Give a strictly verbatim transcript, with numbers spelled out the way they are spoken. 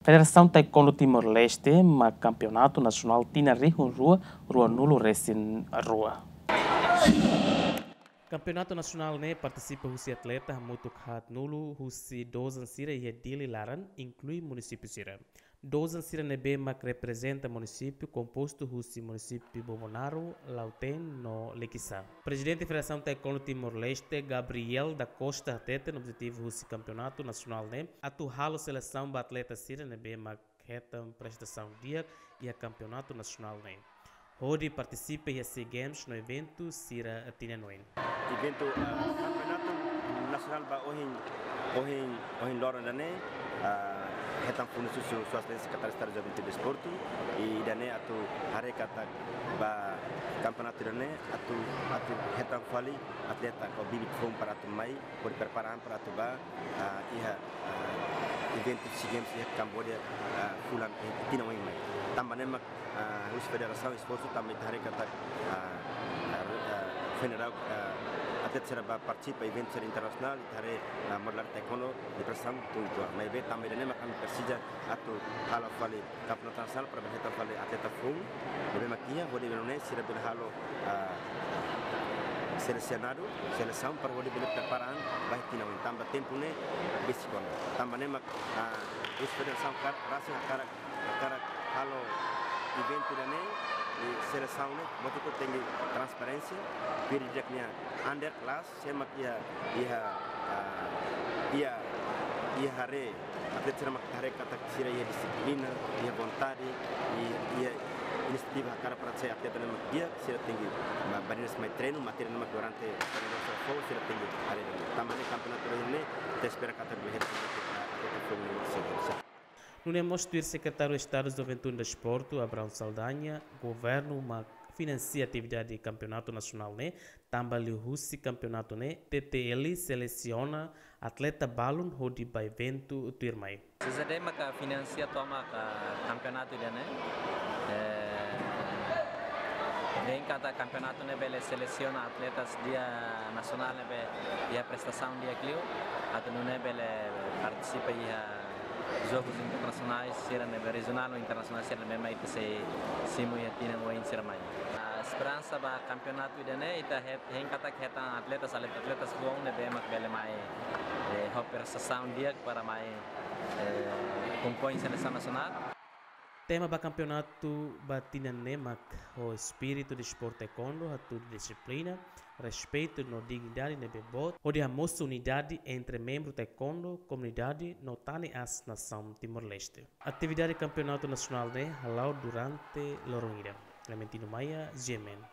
Federasaun Taekwondo Timor-Leste mak Kampeonatu Nasionál tinan rihun rua rua-nulu resin rua. Kampeonatu nasionál ne'e partisipa husi atleta hamutuk haat-nulu husi dozan sira iha Dili laran, inklui munisípiu sira. Dozan sira ne'ebé mak reprezenta munisípiu kompostu husi munisípiu Bobonaro, Lautém no Liquiçá. Prezidente Federasaun Taekwondo Timor-Leste, Gabriel da Costa, hateten objetivu husi kampeonatu nasionál ne'e atu halo selesaun ba atleta sira ne'ebé mak hetan prestasaun di'ak iha kampeonatu nasionál ne'e, hodi partisipa iha SEA Games no eventu sira tinan oin. Eventu, ah, kampeonatu nasionál ba ohin, ohin, ohin loron ida-ne'e, ah, hetan funu susu suas lei Sekretáriu Estadu Juventude Desportu, i ida-ne'e atu haree katak ba kampeonatu ida-ne'e atu, atu hetan fali atleta ka bibit foun para atu mai, hodi prepara an para atu ba, ah, iha, ah, eventu SEA Games iha Kamboja, ah, fulan, eh, tinan oin mai. Tanba ne'e mak, ah, husi federasaun esforsu tanba ita haree katak, ah, ah, ah, federal, ah, atleta sira ba partisipa eventu sira internasionál, ita haree, ah, modalidade taekwondo ne'e prestasaun tun uitoan. Maibé tanba ida-ne'e mak ami presiza atu halo fali kampeonatu nasionál para bele hetan fali atleta foun ne'ebé mak iha, hodi bele nune'e sira bele halo, ah, selesionadu, selesaun para hodi bele prepara an ba iha tinan oin. Tanba tempu ne'e besik ona. Tanba ne'e mak, ah, husi federasaun kar-, rasik hakarak, hakarak halo eventu ida-ne'e, i selesaun ne'e, buat hotu tenke transparénsia, piri di'ak nia under class, sé mak iha, iha, ah, iha, iha haree, atleta sira mak haree katak sira iha dixiplina, iha vontade, i, iha inisiativa hakarak para sai atleta ne'ebé mak di'ak, sira tenke ba, ba dinas mai treinu, matéria ne'ebé mak durante treinu sira fó, sira tenke haree duni. Tanba ne'e kampeonatu ida-ne'e, ita espera katak bele hetan atleta foun ne'ebé mak sei. Nune'e mós tuir Sekretáriu Estadu Juventude Desportu, Abraão Saldanha, governu mak finansia atividade kampeonatu nasionál ne'e, tanba liuhusi kampeonatu ne'e, T T L selesiona atleta balun hodi ba eventu tuirmai. C Z D maka finansia tomak kampeonatu ida-ne'e. Eh, dehan katak kampeonatu ne'e bele selesiona atletas di'ak nasionál ne'ebé iha prestasaun di'ak liu, atu nune'e bele partisipa iha jogus internasionais sira ne'ebé rejionál no internasionál sira ne'ebé mak ita sei simu iha tinan oin sira mai. Ah, esperansa ba kampeonatu ida-ne'e ita het-, hein katak hetan atletas, atletas foun ne'ebé mak bele mai, eh, ho prestasaun di'ak para mai, eh, kompoin selesaun nasionál. Tema ba kampeonatu ba tinan ne'e mak ho espíritu desportu taekwondo, hatudu dixiplina, respeitu no dignidade ne'ebé boot, hodi hamosu unidade entre membru taekwondo, komunidade no tan ne'e as nasaun Timor-Leste. Atividade kampeonatu nasionál ne'e hala'o durante loron ida. Clementino Maia, G M N.